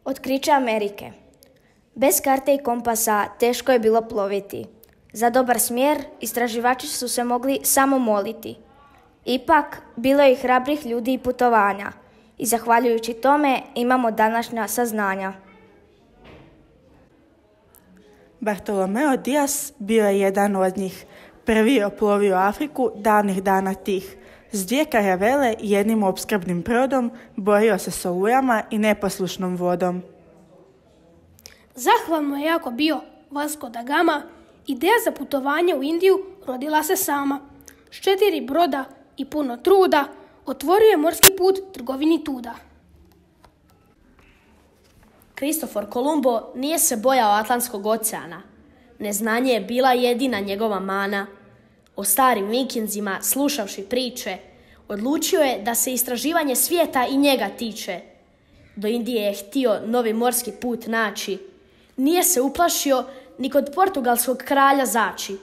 Otkriće Amerike. Bez karte i kompasa teško je bilo ploviti. Za dobar smjer istraživači su se mogli samo moliti. Ipak, bilo je i hrabrih ljudi i putovanja. I zahvaljujući tome imamo današnja saznanja. Bartolomeo Dias bio je jedan od njih. Prvi je oplovio Afriku davnih dana tih. S 2 karavele i jednim opskrbnim brodom borio se s olujama i neposlušnom vodom. Zahvalno je jako bio Vasco da Gama. Ideja za putovanje u Indiju rodila se sama. S 4 broda i puno truda otvorio je morski put trgovini tuda. Kristofor Kolumbo nije se bojao Atlantskog oceana. Neznanje je bila jedina njegova mana. O starim vikingzima, slušavši priče, odlučio je da se istraživanje svijeta i njega tiče. Do Indije je htio novi morski put naći. Nije se uplašio ni kod portugalskog kralja zaći.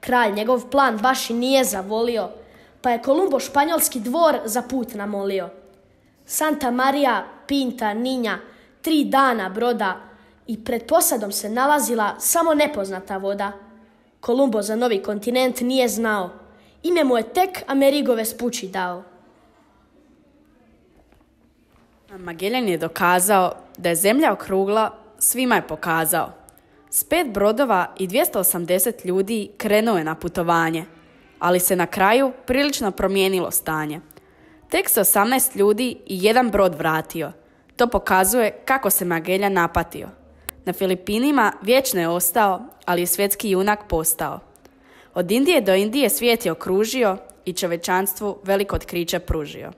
Kralj njegov plan baš i nije zavolio, pa je Kolumbo španjolski dvor za put namolio. Santa Maria Pinta Ninja 3 dana broda i pred posadom se nalazila samo nepoznata voda. Kolumbo za novi kontinent nije znao. Ime mu je tek Amerigo Vespucci dao. Magellan je dokazao da je zemlja okrugla, svima je pokazao. S 5 brodova i 280 ljudi krenuo je na putovanje, ali se na kraju prilično promijenilo stanje. Tek se 18 ljudi i 1 brod vratio. To pokazuje kako se Magellan napatio. Na Filipinima vječno je ostao, ali je svjetski junak postao. Od Indije do Indije svijet je okružio i čovječanstvu veliko otkriće pružio.